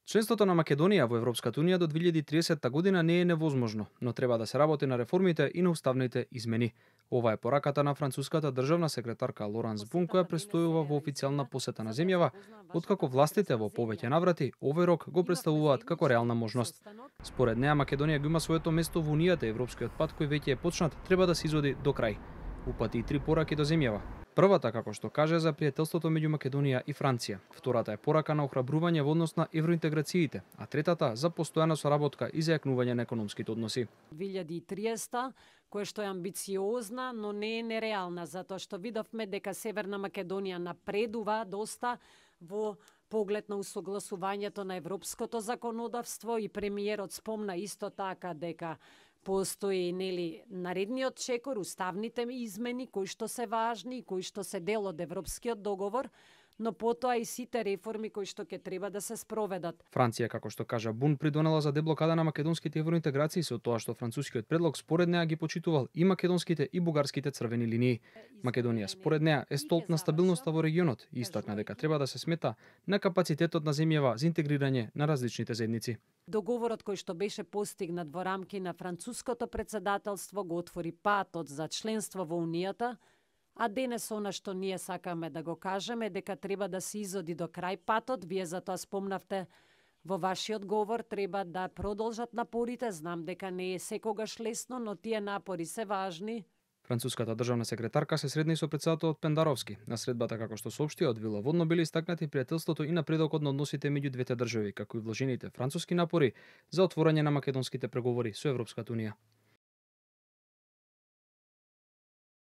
Членството на Македонија во Европската унија до 2030 година не е невозможно, но треба да се работи на реформите и на уставните измени. Ова е пораката на француската државна секретарка Лоранс Бун, која престојува во официјална посета на земјава, откако властите во повеќе наврати овој рок го представуваат како реална можност. Според неа Македонија го има своето место во унијата, европскиот пат кој веќе е почнат треба да се изоди до крај. Упати и 3 пораки до земјава. Првата, како што каже, за пријателството меѓу Македонија и Франција. Втората е порака на охрабрување во однос на евроинтеграциите, а третата за постојана соработка и зајакнување на економските односи. 2030, која што е амбициозна, но не е нереална, затоа што видовме дека Северна Македонија напредува доста во поглед на усогласувањето на европското законодавство и премиерот спомна исто така дека постои наредниот чекор, уставните измени кои што се важни и кои што се дел од европскиот договор, но потоа и сите реформи кои што ќе треба да се спроведат. Франција, како што кажа Бун, придонела за деблокада на македонските евроинтеграции со тоа што францускиот предлог според неа ги почитувал и македонските и бугарските црвени линии. Македонија според неа е столб на стабилноста во регионот и истакна дека треба да се смета на капацитетот на земјава за интегрирање на различните заедници. Договорот кој што беше постигнат во рамки на француското председателство го отвори патот за членство во Унијата, а денес она што ние сакаме да го кажеме дека треба да се изоди до крај патот. Вие за тоа спомнавте во вашиот говор, треба да продолжат напорите. Знам дека не е секогаш лесно, но тие напори се важни. Француската државна секретарка се средна и со претседателот Пендаровски. На средбата, како што соопштија од Вила Водно, били истакнати пријателството и напредокот на односите меѓу двете држави, како и вложените француски напори за отворање на македонските преговори со Европската унија.